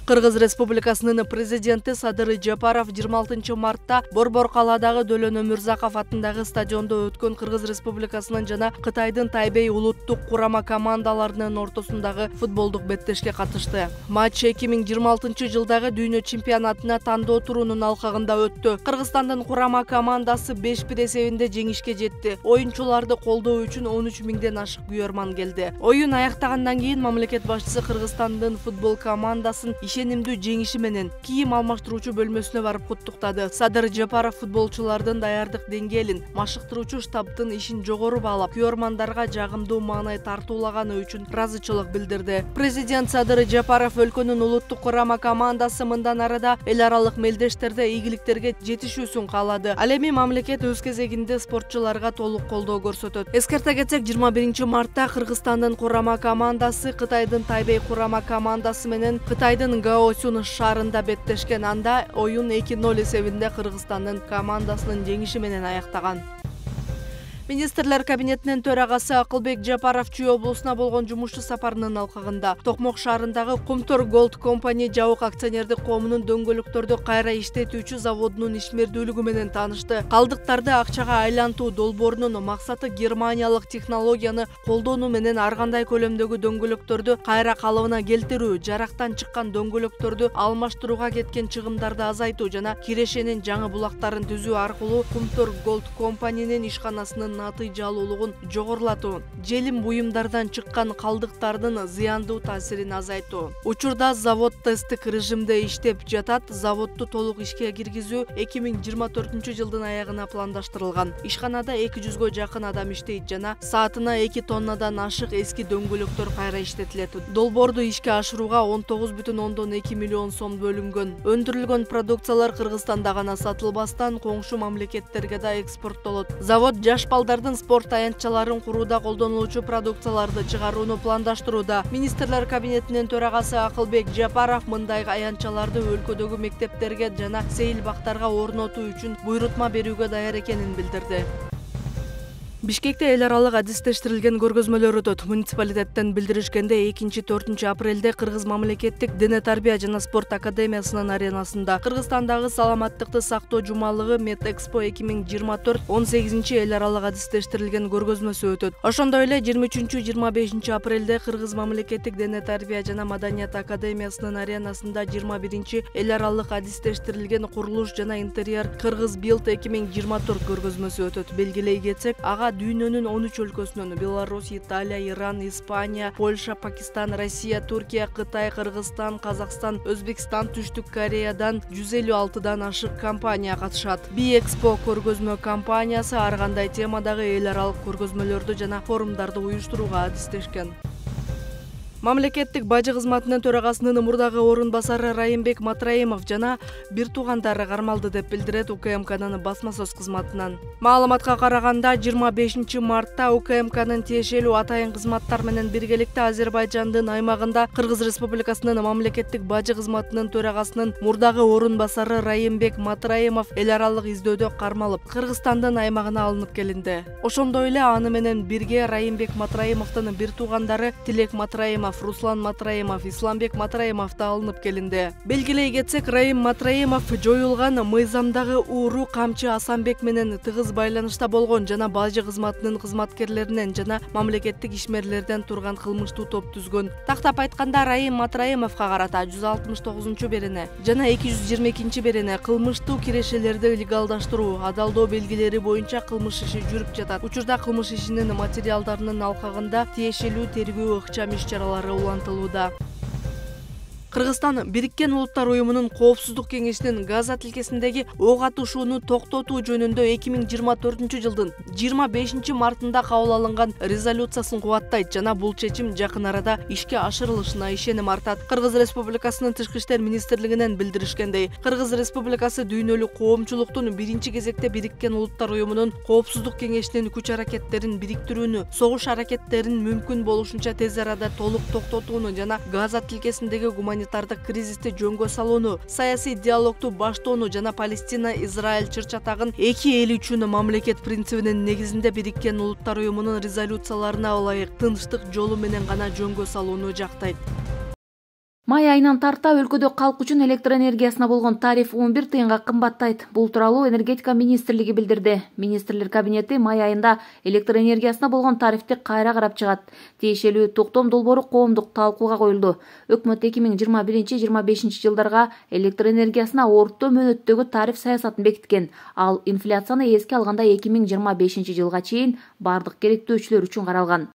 Кыргыз Республикасынын президенти Садыр Жапаров 26 мартта Борбор калаадагы Дөлөн Өмүрзаков атындагы стадиондо өткөн Кыргыз Республикасынын жана Кытайдын Тайбэй улуттук курама командаларынын ортосундагы футболдук беттешке катышты. Матч 2026 жылдагы дүйнө чемпионатына тандоо турунун алкагында өттү. Кыргызстандын курама командасы 5-1 эсебинде жеңишке жетти. Оюнчуларды колдоо үчүн 13 миңден ашык күйөрман келди. Оюн аяктагандан кийин мамлекет башчысы Кыргызстандын футбол командасын ишенимдүү жеңиши менен кийим алмаштыруучу бөлмөсүнө барып куттуктады. Садыр Жапаров футболчулардын даярдык деңгээлин, машыктыруучу штабтын ишин жогору баалап, күйөрмандарга жагымдуу маанай тартуулаганы үчүн ыраазычылык билдирди. Президент Садыр Жапаров өлкөнүн улуттук курама командасы мындан арада эл аралык мелдештерде ийгиликтерге жетишүүсүн каалады. Ал эми мамлекет өз кезегинде спортчуларга толук колдоо көрсөтөт. Эскерте кетсек, 21 мартта Кыргызстандын курама командасы Кытайдын Тайбэй курама командасы менен Кытайдын Гаосюн шаарында беттешкен. Анда оюн 2-0 эсебинде Кыргызстандын командасынын жеңиши менен аяктаган. Министрлер кабинетинин төрагасы Акылбек Жапаров Чүй облусуна болгон жумушчу сапарынын алкагында Токмок шаарындагы Кумтор Голд компани жабык акционердик коомунун дөңгөлөктөрдү кайра иштетүүчү заводунун ишмердүүлүгү менен таанышты. Калдыктарды акчага айлантуу долбоорунун максаты германиялык технологияны колдонуу менен ар кандай көлөмдөгү дөңгөлөктөрдү кайра калыбына келтирүү, жарактан чыккан дөңгөлөктөрдү алмаштырууга кеткен чыгымдарды азайтуу жана кирешенин жаңы булактарын түзүү аркылуу Кумтор Голд компанинин ишканасынын натыйжалуулугун жогорулатуу, желим буюмдардан чыккан калдыктардын зыяндуу таасирин азайтуу. Учурда завод тесттик режимде иштеп жатат. Заводду толук ишке киргизүү 2024 жылдын аягына пландаштырылган. Ишканада 200гө жакын адам иштейт жана саатына 2 тоннадан ашык эски дөңгөлөктөр кайра иштетилет. Долбоорду ишке ашырууга 19,2 миллион сом бөлүнгөн. Өндүрүлгөн продукциялар Кыргызстанда гана сатылбастан коңшу мамлекеттерге да экспорттолот. Завод жаш балдардын спорт аянтчаларын курууда колдонулуучу продукцияларды чыгарууну пландаштырууда. Министрлер кабинетинин төрагасы Акылбек Жапаров мындай аянтчаларды өлкөдөгү мектептерге жана сейил бактарга орнотуу үчүн буйрутма берүүгө даяр экенин билдирди. Бишкекте эл аралык адистештирилген көргөзмөлөр өтөт. Муниципалитеттен билдиришкенде 2-4 апрелде Кыргыз мамлекеттик дене тарбия жана спорт академиясынын аренасында Кыргызстандагы саламаттыкты сактоо жумалыгы Медэкспо 2024 18 эл аралык адистештирилген көргөзмөсү өтөт. Ошондой эле 23-25 апрелде Кыргыз мамлекеттик дене тарбия жана маданият академиясынын аренасында 21 эл аралык адистештирилген курулуш жана интерьер Кыргыз Билд 2024 көргөзмөсү өтөт. Белгилей кетсек, ага дүйнөнүн 13 өлкөсүнөн Беларусь, Италия, Иран, Испания, Польша, Пакистан, Россия, Туркия, Кытай, Кыргызстан, Казакстан, Өзбекстан, Түштүк Кореядан 156дан ашык компания катышат. Би-экспо көргөзмө компаниясы ар кандай темадагы эл аралык көргөзмөлөрдү жана форумдарды уюштурууга адистешкен. Мамлекеттик бажы кызматынын төрагасынын мурдагы орун басары Райымбек Матраимов жана бир туугандары кармалды деп билдирет УКМКнын басма сөз кызматынан. Маалыматка караганда 25 мартта УКМКнын тиешелүү атайын кызматтар менен биргеликте Азербайжандын аймагында Кыргыз Республикасынын мамлекеттик бажы кызматынын төрагасынын мурдагы орун басары Райымбек Матраимов эл аралык издөөдө кармалып, Кыргызстандын аймагына алынып келинди. Ошондой эле аны менен бирге Райымбек Матраимовдун бир туугандары Тилек Матраимов, Руслан Матраимов, Исламбек Матраимов да алынып келинди. Белгилей кетсек, Райым Матраимов жоюлган мыйзамдагы ууру камчы Асанбек менен тыгыз байланышта болгон жана бажы кызматынын кызматкерлеринен жана мамлекеттик ишмерлерден турган кылмыштуу топ түзгөн. Тактап айтканда, Райым Матраимовго карата 169-берене жана 222-берене кылмыштуу кирешелерди легалдаштыруу, адалдоо белгилери боюнча кылмыш иши жүрүп жатат. Учурда кылмыш ишинин материалдарынын алкагында тиешелүү тергөө ыкчам иш-чаралары улантылууда. Кыргызстан Бириккен Улуттар Уюмунун Коопсуздук кеңешинин Газа тилкесиндеги ок атышууну токтотуу жөнүндө 2024 жылдын 25 мартында кабыл алынган резолюциясын кубаттайт жана бул чечим жакын арада ишке ашырылышына ишеним артат. Кыргыз Республикасынын Тышкы иштер министрлигинен билдиришкендей, Кыргыз Республикасы дүйнөлүк коомчулуктун биринчи кезекте Бириккен Улуттар Уюмунун Коопсуздук кеңешинин күч-аракеттерин бириктирүүнү, согуш аракеттерин мүмкүн болушунча тез арада толук токтотууну жана Газа тилкесиндеги гуманитардык кризисти жөнгө салууну, саясий диалогду баштоону жана Палестина-Израиль чыр-чатагын эки эл үчүн мамлекет принцибинин негизинде Бириккен Улуттар Уюмунун резолюцияларына ылайык тынчтык жолу менен гана жөнгө салууну жактайт. Май айынан тарта өлкөдө калк үчүн электр энергиясына болгон тариф 11 тыйынга кымбаттайт. Бул тууралуу энергетика министрлиги билдирди. Министрлер кабинети май айында электр энергиясына болгон тарифти кайра карап чыгат. Тиешелүү токтом долбоору коомдук талкууга коюлду. Өкмөт 2021-25 жылдарга электр энергиясына орто мөөнөттөгү тариф саясатын бекиткен. Ал инфляцияны эске алганда 2025 жылга чейин бардык керектөөчүлөр үчүн каралган.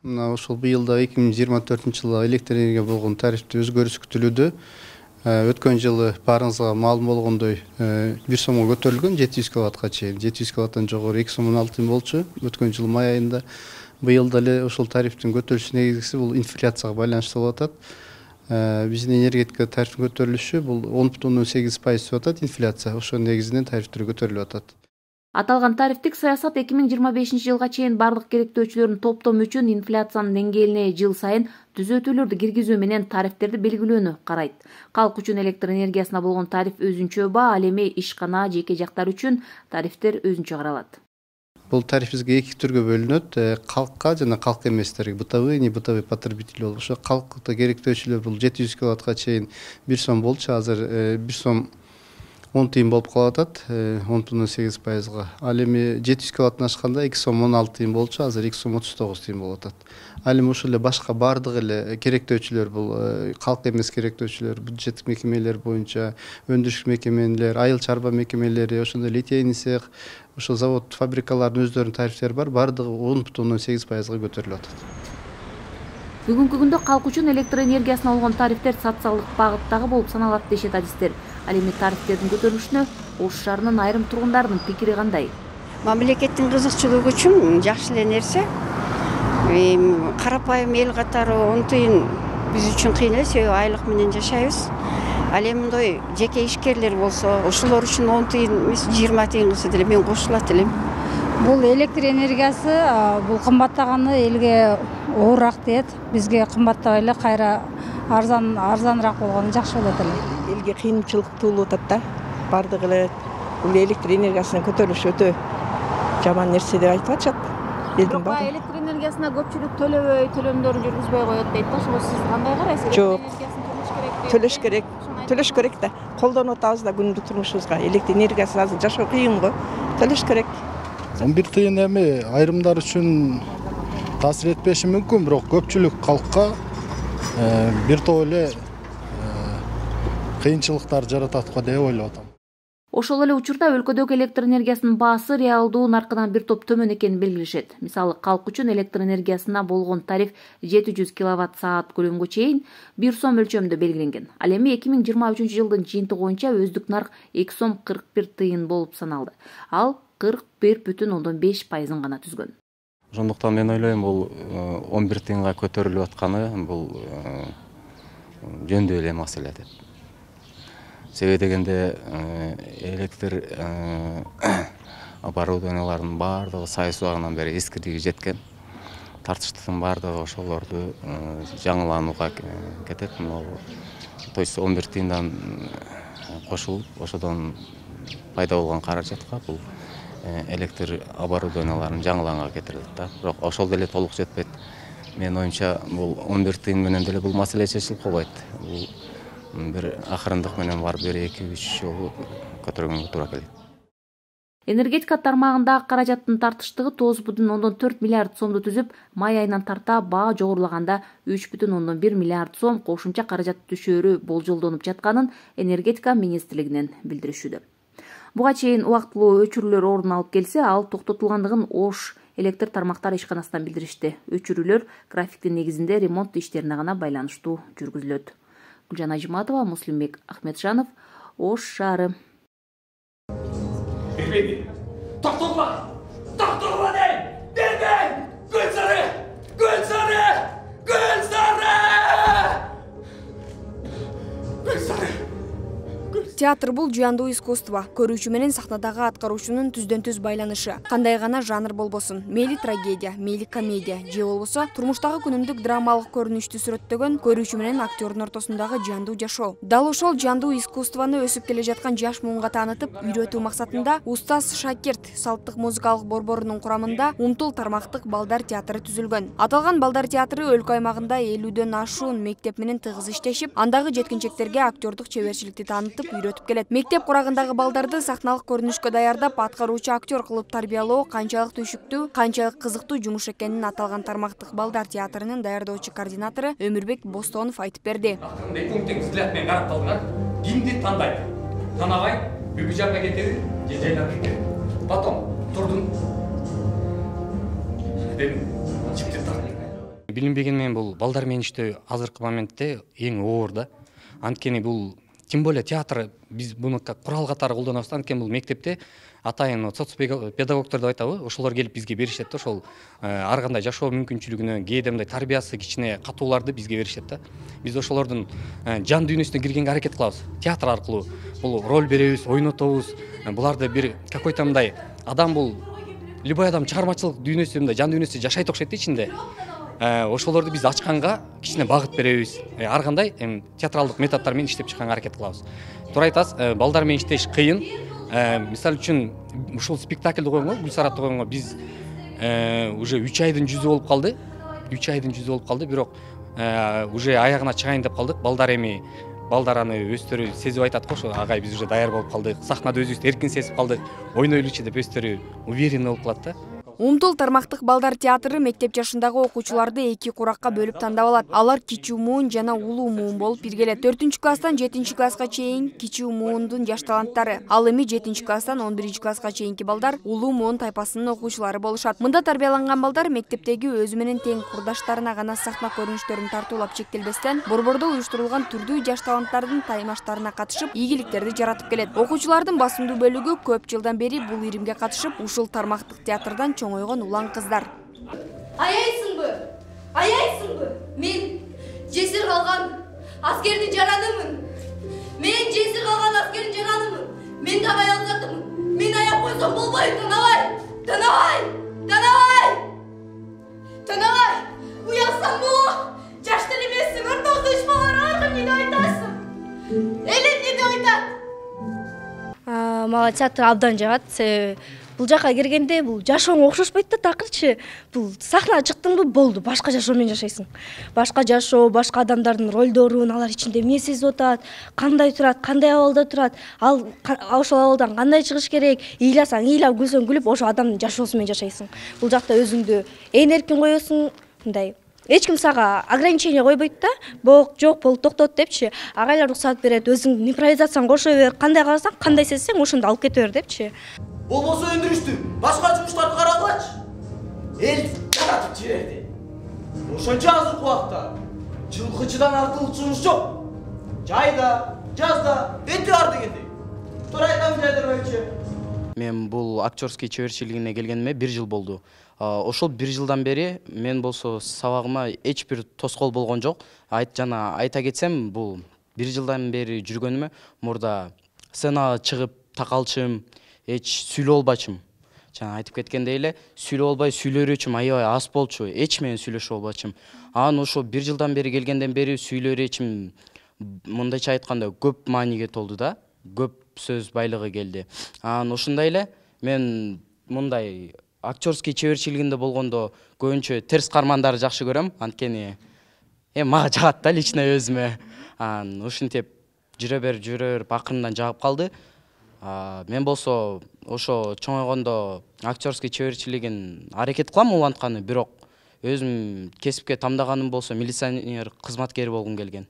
Мына ошол быйылда 2024 жылга электр энергия болгон тарифте өзгөрүш күтүлүүдө. Өткөн жылы баарыңызга маалым болгондой 1 сомго көтөрүлгөн 700 киловаттка чейин. 700 киловаттан жогору 2 сом 16 тыйын болчу өткөн жылы май айында. Быйылда эле ошол тарифтин көтөрүлүш негизгиси бул инфляцияга байланыштуу болуп атат. Биздин энергетика тарифтин көтөрүлүшү бул 10,8% деп атат инфляция. Ошол негизинен тарифтер көтөрүлүп атат. Аталган тарифтик саясат 2025 жылга чейин бардык керектөөчүлөрдүн топтому үчүн инфляциянын деңгээлине жыл сайын түзөтүүлөрдү киргизүү менен тарифтерди белгилөөнү карайт. Калк үчүн электр энергиясына болгон тариф өзүнчө баа, ал эми ишкана, жеке жактар үчүн тарифтер өзүнчө каралат. Бул тариф бизге эки түргө бөлүнөт. Калкка жана калк эместерге, бытовый, не бытовый потребитель болуп. Ошо калкта керектөөчүлөр бул 700 киловаттка чейин 1 сом болчу, азыр 1 сом 10 тыйын болуп калып атат, 10,8%. Ал эми 700 киловаттан ашканда 2 сом 16 тыйын болчу, азыр 2 сом 39 тыйын болуп атат. Ал эми ушул эле башка бардык эле керектөөчүлөр, бул калк эмес керектөөчүлөр, бюджеттик мекемелер боюнча, өндүрүш мекемелер, айыл чарба мекемелери, ошондой литейный цех, ошол завод, фабрикалардын өздөрүнүн тарифтери бар, бардыгы 10,8%га көтөрүлүп атат. Бүгүнкү күндө калк үчүн электр энергиясына болгон тарифтер социалдык багыттагы болуп саналат дешет адистер. Ал эми тарифтердин көтөрүлүшүнө Ош шаарынын айрым тургундарынын пикири кандай? Мамлекеттин кызыкчылыгы үчүн жакшы эле нерсе. Карапайым эл катары 10 тыйын биз үчүн кыйын эле, себеби айлык менен жашайбыз. Ал эми мындай жеке ишкерлер болсо, ошолор үчүн 10 тыйын эмес 20 тыйын кылса деле мен кошулат элем. Бул электр энергиясы бул кымбаттаганы элге оорураак дейт. Бизге кымбаттабай эле кайра арзаныраак болгону жакшы болот эле. Элге кыйынчылык туулуп атат да. Бардыгы эле бул электр энергиясынын көтөрүлүшү өтө жаман нерсе деп айтып атышат. Бирок баягы электр энергиясына көпчүлүк төлөмдөрүн жүргүзбөй коет дейт да. Ошого сиз кандай карайсыз? Жок. Төлөш керек. Төлөш керек да. Колдонуп атабыз да күндүк турмушубузга. Электр энергиясы азыр жашоо кыйын го. Төлөш керек. 11 тыйын эми айрымдар үчүн таасир этпеши мүмкүн, бирок көпчүлүк калкка бир топ эле кыйынчылыктар жаратат го деп ойлоп атам. Ошол эле учурда өлкөдөгү электр энергиясынын баасы реалдуу наркынан бир топ төмөн экенин белгилешет. Мисалы, калк үчүн электр энергиясына болгон тариф 700 киловатт-саат көлөмгө чейин 1 сом өлчөмүндө белгиленген. Ал эми 2023 жылдын жыйынтыгы боюнча өздүк нарк 2 сом 41 тыйын болуп саналды. Ал 41,5% гана түзгөн. Ошондуктан мен ойлойм, бул 11 тыйынга көтөрүлүп атканы бул жөндүү эле маселе деп. Себеби дегенде электр оборудованияларынын баардыгы сайыс убагынан бери эскирдиги жеткен. Тартыштын баардыгы ошолорду жаңыланууга кетет. То есть 11 тыйындан кошулуп, ошодон пайда болгон каражатка бул электр оборудованияларын жаңыланга кетирилет да. Бирок ошол деле толук жетпейт. Менин оюмча, бул 11 тыйын менен деле бул маселе чечилип калбайт. Бул бир акырындык менен барып 1-2-3 жолу көтөргөнгө туура келет. Энергетика тармагындагы каражаттын тартыштыгы 9,4 миллиард сомду түзүп, май айынан тарта баа жогорулаганда 3,1 миллиард сом кошумча каражат түшөөрү болжолдонуп жатканын энергетика министрлигинен билдиришүүдө. Буга чейин убактылуу өчүрүүлөр орун алып келсе, ал токтотулгандыгын Ош электр тармактар ишканасынан билдиришти. Өчүрүүлөр графиктин негизинде ремонт иштерине гана байланыштуу жүргүзүлөт. Гүлжан Ажыматова, Муслимбек Ахметжанов, Ош шаары. Токтогула! Токтогула дейм! Бербейм! Гүлсары! Гүлсары! Гүлсары! Гүлсары! Гүлсары! Театр бул жыяндуу искусство, көрүүчү менен сахнадагы аткаруучунун түздөн-түз байланышы. Кандай гана жанр болбосун, мейли трагедия, мейли комедия же болбосо турмуштагы күнүмдүк драмалык көрүнүштү сүрөттөгөн көрүүчү менен актёрдун ортосундагы жыяндуу жашоо. Дал ошол жыяндуу искусствону өсүп келе жаткан жаш муунга таанытып, үйрөтүү максатында Устаз Шакирт салттык музыкалык борборунун курамында Умтул тармактык балдар театры түзүлгөн. Аталган балдар театры өлкө аймагында 50дөн ашуун мектеп менен тыгыз иштешип, андагы жеткинчектерге актёрдук чеберчиликти таанытып үйрөтүп келет. Мектеп курагындагы балдарды сахналык көрүнүшкө даярдап, аткаруучу актер кылып тарбиялоо канчалык түйшүктүү, канчалык кызыктуу жумуш экенин аталган тармактык балдар театрынын даярдоочу координатору Өмүрбек Бостонов айтып берди. Пункттин взгляд менен карап калдыңар. Кимди тандайт? Танабай, бүкү жакка кетеби? Же жайлап кетеби? Потом турдун. Чипти так. Билинбеген менен бул балдар менен иштөө азыркы моментте эң оор да. Анткени бул тем более театр биз буну курал катары колдонобуз. Анткени бул мектепте атайын соцпедагогдор деп айтабы, ошолор келип бизге беришет да, ошол ар кандай жашоо мүмкүнчүлүгүнө, кээде мындай тарбиясы кичине катууларды бизге беришет да. Биз ошолордун жан дүйнөсүнө киргенге аракет кылабыз. Театр аркылуу бул роль беребиз, ойнотобуз. Буларды бир какой-то мындай адам бул любой адам чыгармачылык дүйнөсү, мындай жан дүйнөсү жашайт окшойт да ичинде. Ошолорду биз ачканга кичине багыт беребиз. Ар кандай театралдык методдор менен иштеп чыкканга аракет кылабыз. Туура айтасыз, балдар менен иштеш кыйын. Мисалы үчүн ушул спектакльди койгонго, Гүлсаратты койгонго биз уже 3 айдын жүзү болуп калды. 3 айдын жүзү болуп калды, бирок уже аягына чыгайын деп калдык. Балдар аны өздөрү сезип айтат го, ошо агай биз уже даяр болуп калдык. Сахнада өзүбүздү эркин сезип калдык. Ойнойлучу деп өздөрү уверенный болуп калат да. Умтул тармактык балдар театры мектеп жашындагы окуучуларды 2 куракка бөлүп тандап алат. Алар кичүү муун жана улуу муун болуп биргелет. 4-класстан 7-класска чейин кичүү муундун жаш таланттары, ал эми 7-класстан 11-класска чейинки балдар улуу муун тайпасынын окуучулары болушат. Мында тарбияланган балдар мектептеги өзү менен тең курдаштарына гана сахна көрүнүштөрүн тартуулап чектелбестен, борбордо уюштурулган түрдүү жаш таланттардын таймаштарына катышып, ийгиликтерди жаратып келет. Окуучулардын басымдуу бөлүгү көп жылдан бери бул иримге катышып, ушул тармактык театрдан чоңойгон улан кыздар. Аяйсыңбы? Аяйсыңбы? Мен жесир калган аскердин жаранымын. Мен жесир калган аскердин жаранымын. Мен да аялзатымын. Мен аяп койсом болбойт, Танабай. Танабай! Танабай! Танабай! Уялсамбы? Жаштар эмессиң, ортоңдо иш балар бар, эмне айтасың? Эл эмне айтат? Мага театр абдан жагат. Бул жака киргенде бул жашооңо окшошпойт да, такырчы. Бул сахнага чыктыңбы, болду, башка жашоо менен жашайсың. Башка жашоо, башка адамдардын ролдорун, алар ичинде эмне сезип атат, кандай турат, кандай абалда турат, ал ошол абалдан кандай чыгыш керек, ыйласаң ыйлап, күлсөң күлүп, ошол адамдын жашоосу менен жашайсың. Бул жакта өзүңдү эркин коесуң, мындай эч ким сага ограничение койбойт да. Жок, болуп токтот депчи. Агайлар уруксат берет, өзүң импровизацияны кошо бер, кандай кааласаң, кандай сезсең, ошондо алып кете бер депчи. Болбосо өндүрүштү, башка жумуштарды карагылачы. Эл жаратып жиберди. Ошончо азыркы убакта жылкычыдан артылуу жумуш жок. Жайда, жазда өтө ар дегендей. Туура айтам Жайдарбайчы. Мен бул актерский чеберчилигине келгениме 1 жыл болду. Ошол 1 жылдан бери мен болсо сабагыма эч бир тоскоол болгон жок. Айта кетсем, бул 1 жылдан бери жүргөнүмө мурда сценага чыгып такалчым, эч сүйлөп албачым. Жана айтып кеткендей эле, сүйлөп албай сүйлөрүчүм аябай аз болчу, эч менен сүйлөшө албачым. Анан ошо 1 жылдан бери келгенден бери сүйлөрүчүм, мындайча айтканда көп мааниге толду да, көп сөз байлыгы келди. Анан ошондой эле мен мындай актерский чеберчилигинде болгондо көбүнчө терс кармандарды жакшы көрөм, анткени мага жагат да лично өзүмө. Анан ушинтип жүрө берип акырындан жагып калды. Мен болсо ошо чоңойгондо актерский чеберчилигин аракет кылам улантканы, бирок өзүм кесипке тамдаганым болсо милиционер кызматкери болгум келген.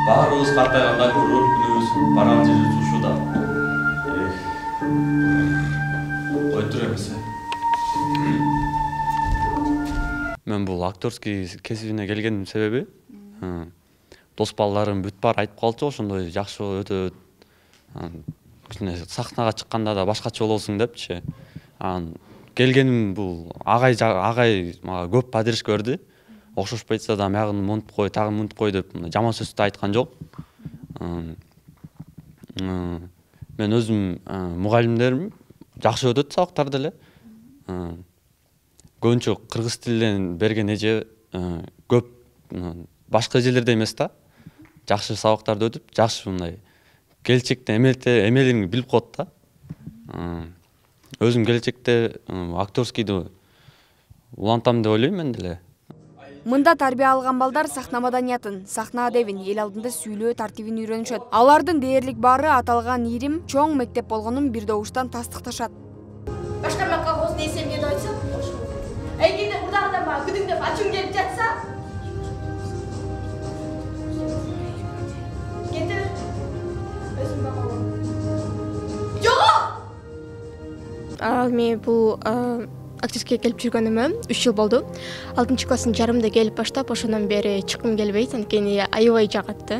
Баарыбыз картайганда роль күнүбүз барган жери ушуда. Ойдур эмес. Мен бул актерский кесибине келгендин себеби дос балдарым бүт баары айтып калчу, ошондой жакшы өтөт. Кичине сахнага чыкканда да башкача болосуң депчи. Келгеним бул агай мага көп поддержка берди. окшошпой атса да мягын монтуп кой, тагын монтуп кой деп жаман сөз да айткан жок. Мен өзүм мугалимдерим жакшы өтөт сабактар деле. Көбүнчө кыргыз тилинен берген эже көп башка эжелерде эмес да. Жакшы сабактарды өтүп, жакшы мындай келечекте эмелин билип коет да. Өзүм келечекте актерскийди улантам деп ойлойм мен деле. Мында тарбия алган балдар сахна маданиятын, сахна адебин, эл алдында сүйлөө тартибин үйрөнүшөт. Алардын дээрлик баары аталган ирим чоң мектеп болгонун бир добуштан тастыкташат. Башкармакка колхоздун эсебинен айтсам, эгерде мурдагыдан мага күдүңдөп ачуң келип жатса, кете бер. Өзүм бакалам. Жок! Мен бул актерскийге келип жүргөнүмө 3 жыл болду. 6-класстын жарымында келип баштап, ошондон бери чыккым келбейт, анткени аябай жагат.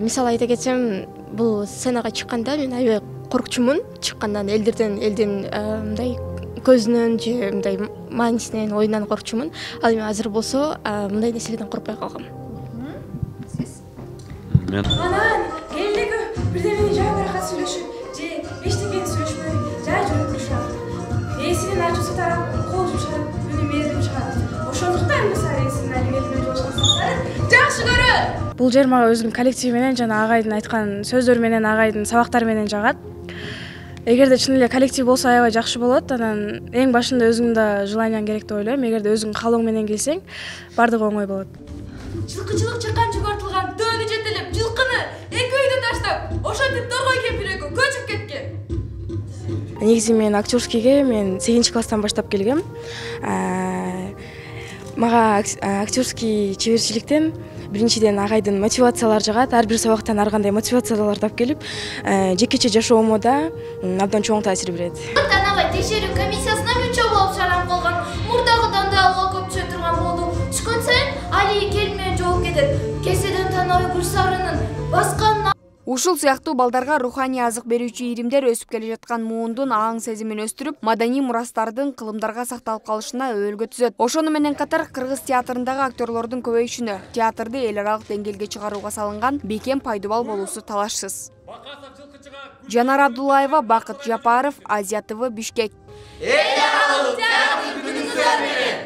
Мисалы айта кетсем, бул сценага чыкканда мен аябай коркчумун. Чыккандан элдин мындай көзүнөн же мындай маанисинен, оюнан коркчумун. Ал эми азыр болсо мындай нерселерден коркпой калгам. Сиз? Мен Анан келдеги бирдемени жайбыраак сүйлөшүп, же эчтекени сүйлөшпөй, жай жүрүп турушат. Эсинин ачуусу тарап, кол жумшап, үнү мээрим чыгат. Ошондуктан мисалы эсинин алимелине жолшансаңдар, жакшы көрөт. Бул жер мага өзүнүн коллективи менен жана агайдын айткан сөздөрү менен, агайдын сабактары менен жагат. Эгерде чын эле коллектив болсо аябай жакшы болот. Анан эң башында өзүңдө желанияң керек деп ойлойм. Эгерде өзүң каалооң менен келсең, бардыгы оңой болот. Жылкычылык чыккан жогортулган төөнү жетелеп, жылкыны эки үйдө таштап, ошентип торгой кемпир экөө көчүп кеткен. Негизи мен актерскийге 8-класстан баштап келгем. Мага актерский чеберчиликтен биринчиден агайдын мотивациялары жагат. Ар бир сабактан ар кандай мотивациялар тап келип, жекече жашоомо да абдан чоң таасир берет. Танабай текшерүү комиссиясына мүчө болуп шайланып калган. Мурдагыдан да алга көп түшө турган болду. Түшкөн сайын Али келмей жооп кетет. Кеседен Танабай Гүлсарынын баскан. Ушул сыяктуу балдарга руханий азык берүүчү иримдер өсүп келе жаткан муундун аң сезимин өстүрүп, маданий мурастардын кылымдарга сакталып калышына өбөлгө түзөт. Ошону менен катар кыргыз театрындагы актерлордун көбөйүшүнө, театрды эл аралык деңгээлге чыгарууга салынган бекем пайдубал болуусу талашсыз. Жанар Абдуллаева, Бакыт Жапаров, Азия ТВ, Бишкек. Эл аралык театр күнүңүздөр менен